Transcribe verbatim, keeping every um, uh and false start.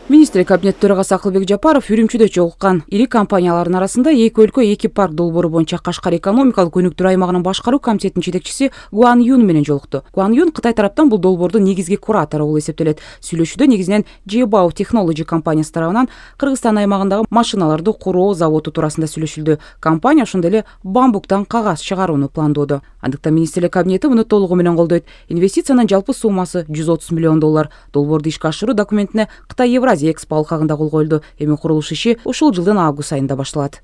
Министрлик кабинет төрагасы Акылбек Жапаров Үрүмчүдө жолуккан ири компаниялардын арасында эки өлкө эки парк долбоору боюнча Кашкар экономикалык өнүктүрүү аймагынын башкаруу комитетинин жетекчиси Гуан Юн менен жолукту. Гуан Юн Кытай тараптан бул долбоордун негизги куратору болуп эсептелет. Сүйлөшүүдө негизинен Jebao Technology компаниясы тарабынан Кыргызстан аймагындагы машиналарды куруу заводу туурасында сүйлөшүлдү. Компания ошондой эле бамбуктан кагаз чыгарууну пландоодо. Андыктан министрлик кабинети муну толугу менен колдойт. Инвестициянын жалпы суммасы жүз отуз миллион доллар. Долбоорду ишке ашыруу документине Кытай Евразия экспо алкагында кол коюлду. Эми курулуш иши ушул жылдын август айында башталат.